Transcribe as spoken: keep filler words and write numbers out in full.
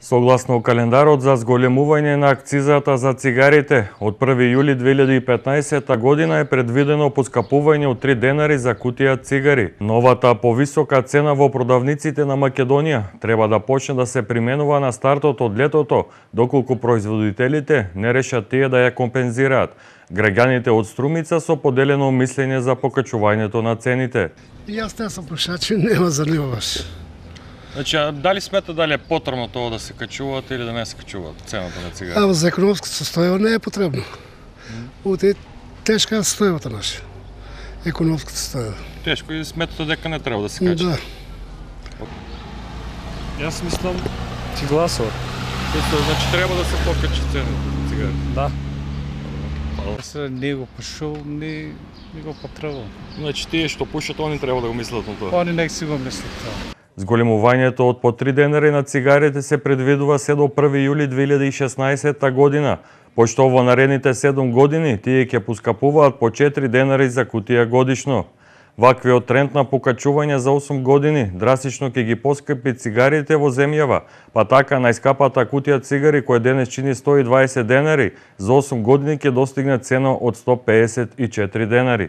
Согласно календарот за зголемување на акцизата за цигарите, од први јули две илјади и петнаесета година е предвидено поскапување од три денари за кутија цигари. Новата повисока цена во продавниците на Македонија треба да почне да се применува на стартот од летото, доколку производителите не решат тие да ја компензираат. Граѓаните од Струмица со поделено мислење за покачувањето на цените. Јас не сум пушач, нема занимаваш. Значи, дали смета дали е потребно тоа да се качуваат или да не се качуваат цената на цигари? А за економското состојба не е потребно. Оте тешка состојбата наша. Економското состојба. Тешко и сметате дека не треба да се качи. Да. Јас мислам ти гласува. Значи треба да се покачи цената на цигари. Да. Се не го пушувам, не, не го потребувам. Значи тие што пушат, они треба да го мислат на тоа. Они нек си го мислат тоа. Зголемувањето од по три денари на цигарите се предвидува се до први јули две илјади и шеснаесета година, пошто во наредните седум години тие ќе поскапуваат по четири денари за кутија годишно. Ваквиот тренд на покачување за осум години драстично ќе ги поскапи цигарите во земјава, па така најскапата кутија цигари која денес чини сто и дваесет денари, за осум години ќе достигне цена од сто пеесет и четири денари.